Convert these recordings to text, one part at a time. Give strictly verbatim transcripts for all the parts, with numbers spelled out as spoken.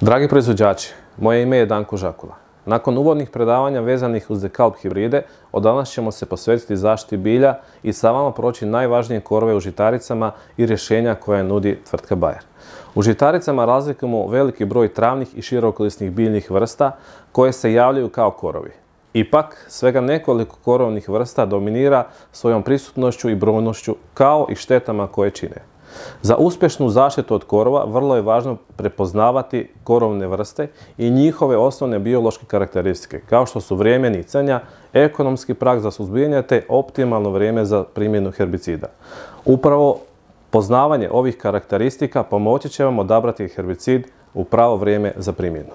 Dragi proizvođači, moje ime je Danko Žakula. Nakon uvodnih predavanja vezanih uz Dekalb hibride, od danas ćemo se posvetiti zaštiti bilja i sa vama proći najvažnije korove u žitaricama i rješenja koje nudi tvrtka Bayer. U žitaricama razlikujemo veliki broj travnih i širokolisnih biljnih vrsta koje se javljaju kao korovi. Ipak, svega nekoliko korovnih vrsta dominira svojom prisutnošću i brojnošću kao i štetama koje čine. Za uspješnu zaštitu od korova vrlo je važno prepoznavati korovne vrste i njihove osnovne biološke karakteristike, kao što su vrijeme nicanja, ekonomski prag za suzbijanje te optimalno vrijeme za primjenu herbicida. Upravo poznavanje ovih karakteristika pomoći će vam odabrati herbicid u pravo vrijeme za primjenu.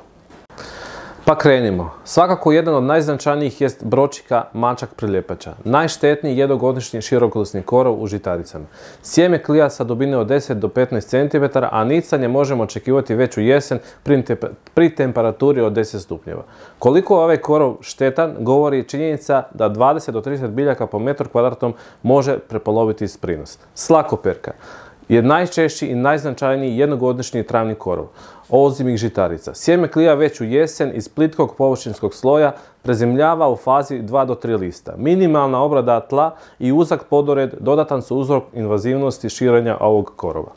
Pa krenimo. Svakako jedan od najznačajnijih jest bročika mačak priljepača. Najštetniji jednogodišnji širokolisni korov u žitaricama. Sjeme klija sa dubine od deset do petnaest centimetara, a nicanje možemo očekivati već u jesen pri temperaturi od deset stupnjeva. Koliko je ovaj korov štetan, govori činjenica da dvadeset do trideset biljaka po metru kvadratnom može prepoloviti prinos. Slakoperka je najčešći i najznačajniji jednogodišnji travni korov ozimih žitarica. Sjeme klija već u jesen iz plitkog površinskog sloja, prezimljava u fazi dva do tri lista. Minimalna obrada tla i uzak podored dodatan su uzrok invazivnosti širenja ovog korova.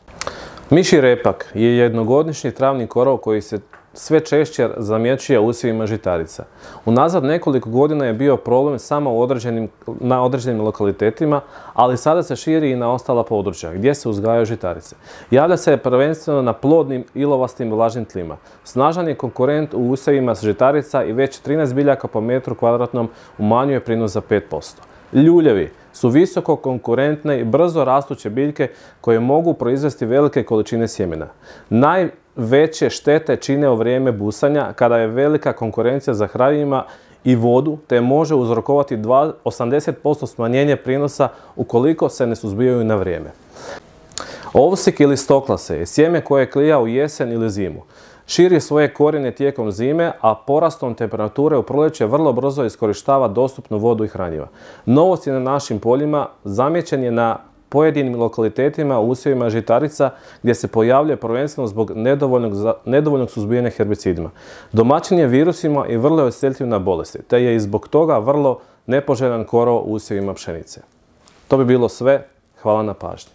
Mišji repak je jednogodišnji travni korov koji se sve češće zamjećuje u usjevima žitarica. Unazad nekoliko godina je bio problem samo u određenim, na određenim lokalitetima, ali sada se širi i na ostala područja gdje se uzgajaju žitarice. Javlja se prvenstveno na plodnim, ilovastim i vlažnim tlima. Snažan je konkurent u usjevima žitarica i već trinaest biljaka po metru kvadratnom umanjuje prinos za pet posto. Ljuljevi su visoko konkurentne i brzo rastuće biljke koje mogu proizvesti velike količine sjemena. Najveće štete čine u vrijeme busanja kada je velika konkurencija za hranjivima i vodu te može uzrokovati osamdeset posto smanjenje prinosa ukoliko se ne suzbijaju na vrijeme. Ovsik ili stoklase je sjeme koje klija u jesen ili zimu. Širi svoje korijene tijekom zime, a porastom temperature u proljeće vrlo brzo iskorištava dostupnu vodu i hranjiva. Novost je na našim poljima, zamijećen je na pojedinim lokalitetima u usjevima žitarica gdje se pojavljuje prvenstveno zbog nedovoljnog, nedovoljnog suzbijanja herbicidima. Domaćin je virusima i vrlo je osjetljiv na bolesti, te je i zbog toga vrlo nepoželjan korov u usjevima pšenice. To bi bilo sve. Hvala na pažnji.